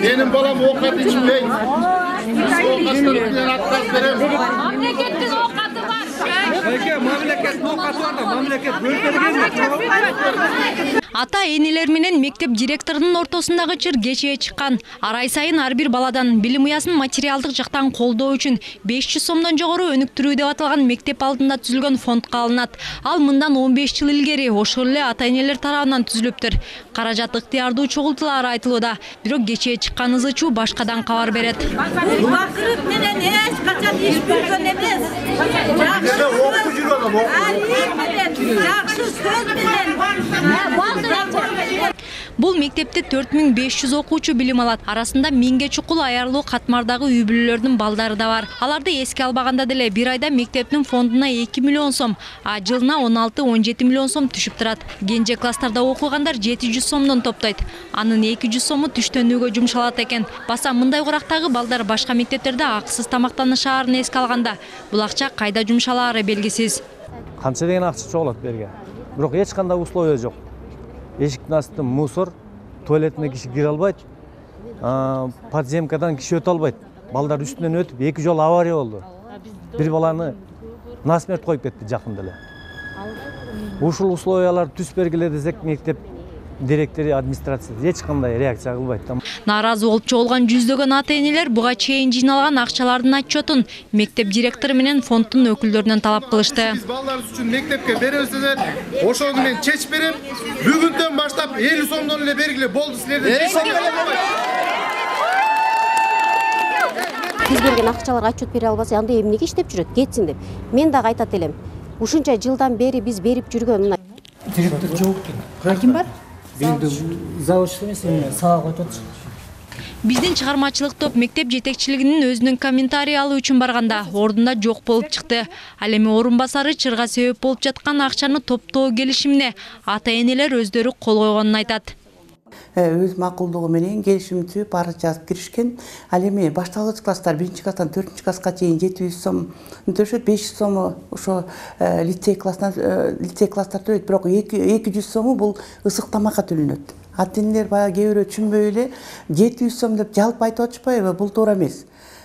Benim balam okat içmey. Okatlarından atkaz verem. Memleketin okatı var. Peki memleket okatı var da memleket bölgede Ата-энелер менен мектеп директорунун ортосундагы чыр кечээ чыккан. Ар ай сайын ар бир баладан билим уясын материалдык жактан колдоо үчүн 500 сомдон жогору өнүктүрүү деп аталган мектеп алдында түзүлгөн фондко алынат. Ал мындан 15 жыл илгери ошол эле ата-энелер тарабынан түзүлүптүр. Каражат ыктыярдуу чогултулары айтылууда. Бирок кечээ чыккан ызычуу башкадан кабар берет. Бакырып менен эч качан иш көргөн эмес. Жакшы сөз менен. Бул мектепте 4500 окуучу билим алат. Арасында 1000ге чукул аярлуу катмардагы үй бүлөлөрдүн балдары да бар. Аларды эске албаганда деле бир айда мектептин фондуна 2 миллион сом, а жылына 16-17 миллион сом түшүп турат. Кенже класстарда окугандар 700 сомдон топтойт. Анын 200 сому түштөнүүгө жумшалат экен. Баса мындай курактагы балдар башка мектептерде акысыз тамактанышаарын эске алганда, бул акча кайда жумшалаары белгисиз. Канча деген акча чогулат берге. Бирок эч кандай условия жок. Эшиктин астында мусор, туалетине киши кире албайт, подземкадан киши өтө албайт. Балдар үстүнөн өтүп, 2 жолу авария болду. Бир баланы насмерть коюп кетти жакында эле. Ушул условиялар түз бергиле десек, мектеп директору администрациясы эч кандай реакция кылбайт. Нааразы болуп чогулган жүздөгөн ата-энелер буга чейин жыйналган акчалардын отчетун мектеп директору менен фонддун өкүлдөрүнөн талап кылышты. Биз балдарыбыз үчүн мектепке беребиздер. Ошону мен чечип берем. Бүгүндөн баштап 50 сомдон эле бергиле болду силерден. 50 сом эле болбойт. Биз берген акчаларга отчет бере албаса, анда эмнеге иштеп жүрөт? Кетсин деп. Мен дагы айтат элем. Ушунча жылдан бери биз берип жүргөн директор жок экен. Ким бар? Заводчу эмес, сага коюп атат. Биздин чыгармачылык топ мектеп жетекчилигинин өзүнүн комментарий алуу үчүн барганда ордунда жок болуп чыкты. Ал эми орун басары чырга себеп болуп жаткан акчаны топтоо келишимине ата-энелер өздөрү кол койгонун айтат. Өз макулдугу менен келишим түзүп арыз жазып киришкен. Ал эми башталгыч класстар 1-класстан 4-класска чейин 700 сом төлөшөт, 500 сому ошо лицей класстар төлөйт, бирок 200 сому бул ысык тамакка төлөнөт. Ата-энелер баягы кээ бирөө түшүнбөй эле 700 сом деп жалпы айтып атышпайбы? Бул туура эмес.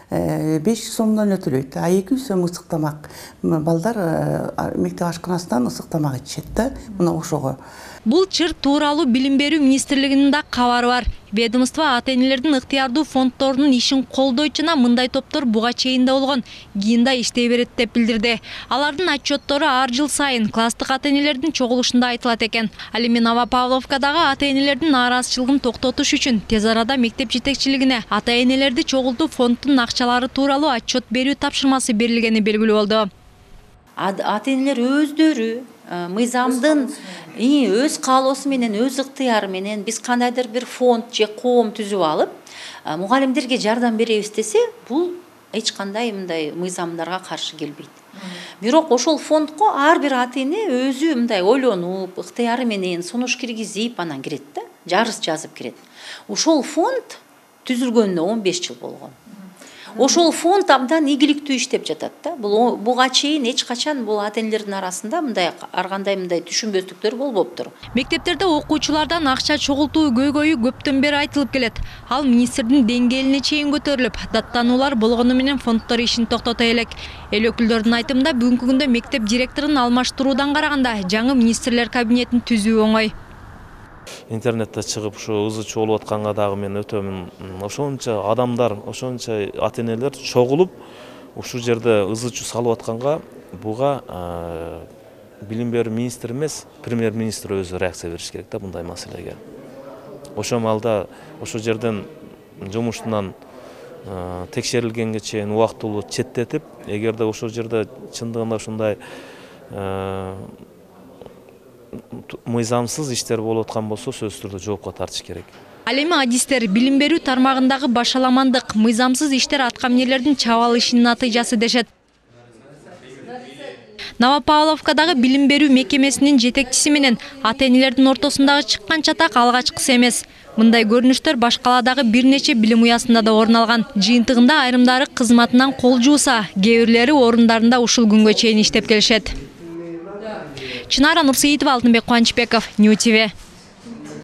500 сомдон эле төлөйт, а 200 сом ысык тамак. Балдар мектеп ашканасынан ысык тамак ичет да, мына ошого. Бул чыр тууралуу билим берүү министрлигинин да кабары бар. Ведомство ата-энелердин ыктыярдуу фонддорунун ишин колдойт жана мындай топтор буга чейин да болгон, кийин да иштей берет деп билдирди. Алардын отчеттору ар жыл сайын класстык ата-энелердин чогулушунда айтылат экен. Ал эми Новопавловкадагы ата-энелердин нааразычылыгын токтотуш үчүн тез арада мектеп жетекчилигине ата-энелерди чогултуп фонддун акчалары тууралуу отчет берүү тапшырмасы берилгени белгилүү болду. Ата-энелер өздөрү мыйзамдын өз каалоосу менен, өз ыктыяры менен биз кандайдыр бир фонд же коом түзүп алып, мугалимдерге жардам беребиз десе, бул эч кандай мындай мыйзамдарга каршы келбейт. Бирок ошол фондко ар бир ата-эне өзү мындай ойлонуп, ыктыяры менен сунуш киргизип анан кирет да, жарыс жазып кирет. Ошол фонд түзүлгөнүнө 15 жыл болгон. Ошол фонд абдан ийгиликтүү иштеп жатат да. Буга чейин эч качан бул ата-энелердин арасында мындай ар кандай мындай түшүнбөстүктөр болбоптур. Мектептерде окуучулардан акча чогултуу көйгөйү көптөн бери айтылып келет. Ал министрдин деңгээлине чейин көтөрүлүп, даттануулар болгону менен фонддор ишин токтото элек. Эл өкүлдөрүнүн айтымында бүгүнкү күндө мектеп директорун алмаштыруудан караганда жаңы министрлер кабинетин түзүү оңой. Интернетте чыгып ушу ызычуу болуп атканга дагы мен өтөмүн. Ошончо адамдар, ошончо ата-энелер чогулуп ушул жерде ызычуу салып атканга буга билим берүү министри эмес, премьер-министр өзү реакция бериш керек да мындай маселеге. Ошол маалда ошол жерден жумуштан текшерилгенге чейин убактылуу четтетип, эгерде ошол жерде чындыгында ушундай мыйзамсыз иштер болуп аткан болсо, сөзсүз түрдө жоопко тартыш керек. Ал эми адистер билим берүү тармагындагы башаламандык, мыйзамсыз иштер аткаминерлердин чабалышынын натыйжасы дешет. Новопавловкадагы билим берүү мекемесинин жетекчиси менен ата-энелердин ортосундагы чыккан чатак алгачкысы эмес. Мындай көрүнүштөр башкаладагы бир нече билим уясында да орун алган. Жыйынтыгында айрымдары кызматынан кол жууса, кээ бирлери орундарында ушул күнгө чейин иштеп келишет. Чынара Нурсеитова, Алтынбек Кубанычбеков, Нью ТВ.